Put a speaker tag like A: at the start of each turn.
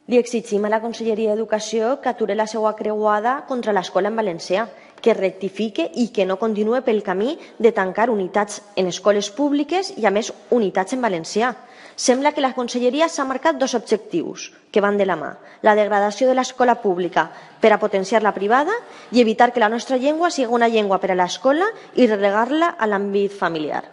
A: Li exigim a la Conselleria d'Educació que aturi la seva creuada contra l'escola en valencià, que rectifique i que no continuï pel camí de tancar unitats en escoles públiques i, a més, unitats en valencià. Sembla que la Conselleria s'ha marcat dos objectius que van de la mà: la degradació de l'escola pública per a potenciar la privada i evitar que la nostra llengua sigui una llengua per a l'escola i relegar-la a l'àmbit familiar.